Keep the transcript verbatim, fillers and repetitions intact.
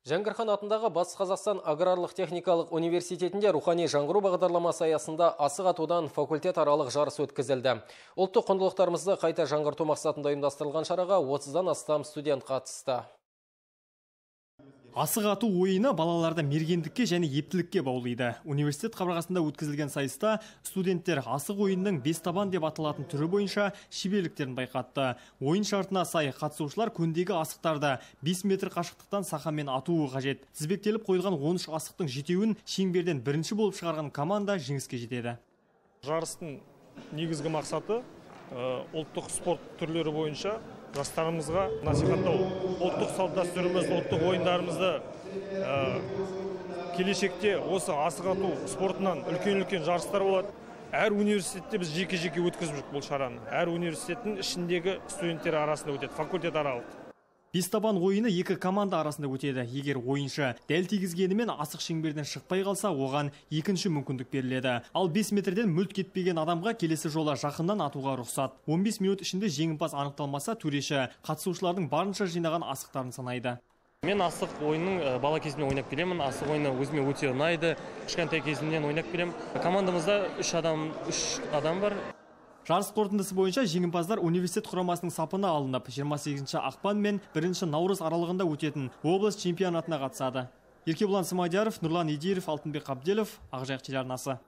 Жәңгірхан атындағы Батыс Қазақстан аграрлық техникалық университетінде рухани жаңғыру бағдарламасы аясында асық атудан факультет аралық жарыс өткізілді. Ұлттық құндылықтарымызды қайта жаңғырту мақсатында ұйымдастырылған шараға отыздан астам студент қатысты. Асық ату ойыны балаларды мергендікке және ептілікке баулиды. Университет қабырғасында өткізілген сайыста студенттер асық ойынның бес табан деп аталатын түрі бойынша шеберліктерін байқатты. Ойын шартына сай қатысушылар көндегі асықтарды бес метр қашықтықтан сақамен атуы қажет. Тізбектеліп қойылған он үш асықтың жетеуін шеңберден бірінші болып шығарған команда жеңіске жетеді. Жарыстың негізгі мақсаты ұлттық спорт түрлері бойынша жастарымызға насихаттау, ұлттық салт дәстүріміз, ұлттық ойындарымызды келешекте осы асық ату спортынан үлкен-үлкен жарыстар болады. Әр университетте біз жеке-жеке өткізіп жүрік бұл шараны. Әр университеттің ішіндегі студенттер арасында өтеді, факультет аралық. Бес табан ойыны екі команда арасында өтеді. Егер ойыншы дәл тигізгенімен асық шеңберден шықпай қалса, оған екінші мүмкіндік беріледі. Ал бес метрден мүлт кетпеген адамға келесі жолы жақыннан атуға рұқсат. он бес минут ішінде жеңімпаз анықталмаса, төреші қатысушылардың барынша жинаған асықтарын санайды. Мен асық ойынның бала кезімнен ойнап келемін. Асық ойыны өзіме өте ұнайды. Кішкентай кезімнен ойнап келемін. Командамызда үш адам, үш адам бар. Жарыс қорытындысы бойынша жеңімпаздар университет құрамасының сапына алынып, жиырма сегізінші ақпан мен бірінші наурыз аралығында өтетін облыс чемпионатына қатысады. Еркебұлан Смадияров, Нұрлан Идиев, Алтынбек Қабделов, Ақжайық телеарнасы.